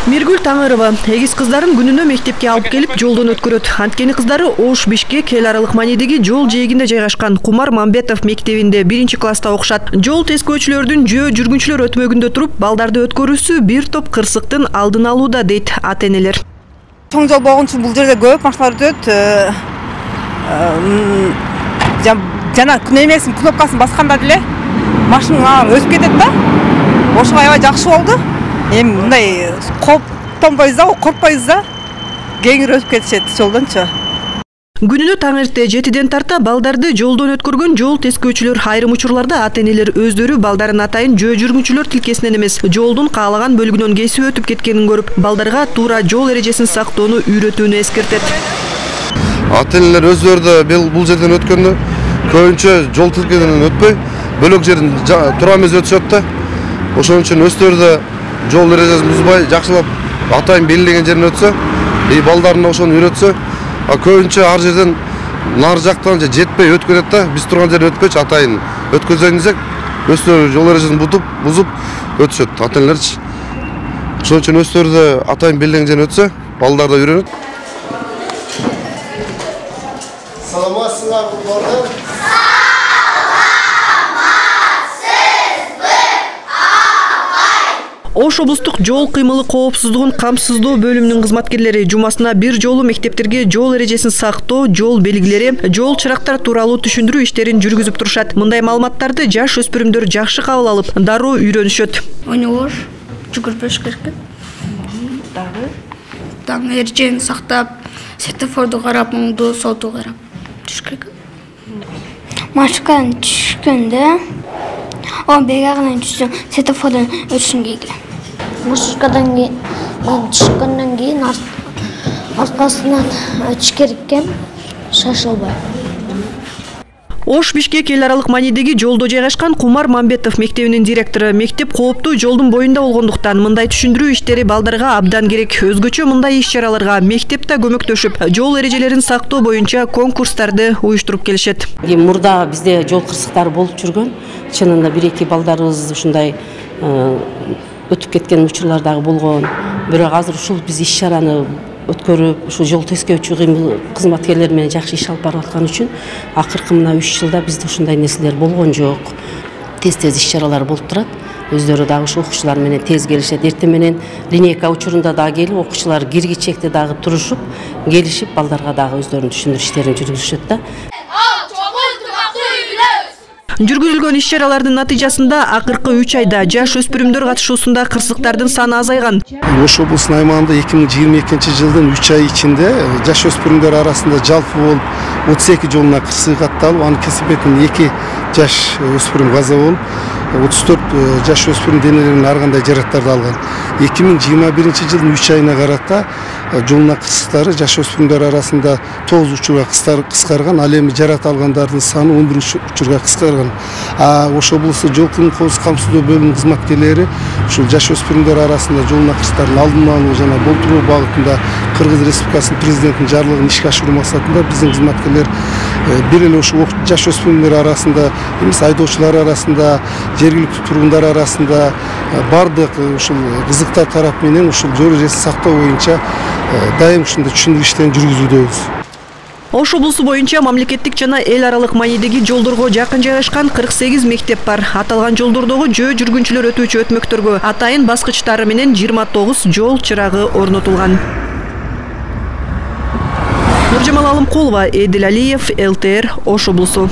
Миргүл Таңырова эгиз кыздарын күнүнө мектепке алып келип жолдон өткөрөт. Анткени кыздары Ош-Бишкек эл аралык маанидеги жол жээгинде жайгашкан Кумар Мамбетов мектебинде 1-класста окушат. Жол тескөөчүлөрдүн жөө жүргүнчүлөр өтмөгүндө туруп, балдарды өткөрүүсү бир топ кырсыктын алдын алууда, дейт ата-энелер. Чоң жол болгон үчүн бул жерде көп машиналар өтөт. Жана күн эмесин кнопкасын басканда деле машиналар өтүп кетет да. Ошого аябай жакшы болду. Эми мындай коптонбойбуз да, коркпойбуз да. Кеңири өтүп кетишет жолдончу. Күнүнө таң эрте 7ден тарта балдарды жолдон өткөргөн жол тескөөчүлөр айрым учурларда ата-энелер өздөрү балдарын атайын жөө жүргүнчүлөр тилкесинен эмес, жолдун каалаган бөлүгүнөн кесип өтүп кеткенин көрүп, балдарга туура жол эрежесин сактоону үйрөтүүнү эскертет. Ата-энелер өздөрү да бул жерден өткөндө көбүнчө жол тилкесинен өтпөй, бөлөк жерин туура эмес өтүшөт да. Ошон үчүн өздөрү да жол эрежесин бузбай, жакшылап атайын белгилеген жерин өтсө, балдарына ошону үйрөтсө, көбүнчө ар жерден нары жактан жетпей өтүп кетет да. Биз турган жерден өтпөйчү атайын өткөзөйүн десек, өздөрү жол эрежесин бузуп өтүшөт ата-энелерчи. Ошон үчүн өздөрү да атайын белгилеген жерин өтсө, балдар да үйрөнөт. Саламатсыңарбы балдар? Ош облустук жол кыймылы коопсуздугун камсыздоо бөлүмүнүн кызматкерлери жумасына бир жолу мектептерге жол эрежесин сактоо, жол белгилери, жол чырактар тууралуу түшүндүрүү иштерин жүргүзүп турушат. Мындай маалыматтарды жаш өспүрүмдөр жакшы кабыл алып, дароо үйрөнүшөт. Ойногош, жүгүрбөш керек. Таң эрежени сактап, светофорду карап, оңду, солду карап жүрүш керек. Машыкадан түшкөндө бегагынан түшсөң, светофордон өтүшүң керек. Машыкадан түшкөндөн кийин аркасынан өтүш керек экен, шашылбай. Ош-Бишкек эл аралык маанидеги жолдо жайгашкан Кумар Мамбетов мектебинин директору, мектеп кооптуу жолдун боюнда болгондуктан мындай түшүндүрүү иштери балдарга абдан керек. Өзгөчө мындай иш-чараларга мектепте көмөктөшүп, жол эрежелерин сактоо боюнча конкурстарды уюштуруп келишет. Мурда бизде жол кырсыктары болуп жүргөн. Чынында 1-2 балдарыбыз ушундай өтүп кеткен учурлар дагы болгон. Бирок азыр ушул биз иш-чараны өткөрүп, ушу жол тескөөчү кызматкерлер менен жакшы иш алып барып аткан үчүн акыркы мына 3 жылда бизде ушундай нерселер болгон жок. Тез иш-чаралар болуп турат. Өздөрү дагы ушу окуучулар менен тез келишет. Эртең менен линейка учурунда дагы келип, окуучулар киргичекте дагы турушуп, келишип, балдарга дагы өздөрүнүн түшүндүрүү иштерин жүргүзүшөт да. Жүргүзүлгөн иш-чаралардын натыйжасында акыркы 3 айда жаш өспүрүмдөр катышуусунда кырсыктардын саны азайган. Ош облусунун аймагында 2022-жылдын 3 ай ичинде жаш өспүрүмдөр арасында жалпы болуп 32 жолуна кырсык катталып, аны кесип кеткен 2 жаш өспүрүм каза болуп, 34 жаш өспүрүм денелеринин ар кандай жаракаттарды алган. 2021-жылдын 3 айына карата жолуна кырсыктары жаш өспүрүмдөр арасында 9 учурга кыскарган, ал эми жаракат алгандардын саны 11 учурга кыскарган. Ош облусту жол кыймыл коопсуздук камсыздоо бөлүмүнүн кызматкерлери ушул жаш өспүрүмдөр арасында жолуна кырсыктардын алдын алуу жана болтуруу багытында Кыргыз Республикасынын президентинин жарлыгын ишке ашыруу максатында биздин кызматкерлер бир эле ушул жаш өспүрүмдөр арасында эмес, айдоочулар арасында, жергиликтүү тургундар арасында бардык ушул кызыктар тарап менен ушул жол эрежесин сактоо боюнча дайым ушундай түшүндүрүү иштерин жүргүзүүдөбүз. Ош облусу боюнча мамлекеттик жана эл аралык маанидеги жолдорго жакын жайгашкан 48 мектеп бар. Аталган жолдордогу жөө жүргүнчүлөр өтүүчү өтмөктөргө атайын баскычтары менен 29 жол чырагы орнотулган. Нуржамал Алымкулова, Эдил Алиев, ЛТР, Ош облусу.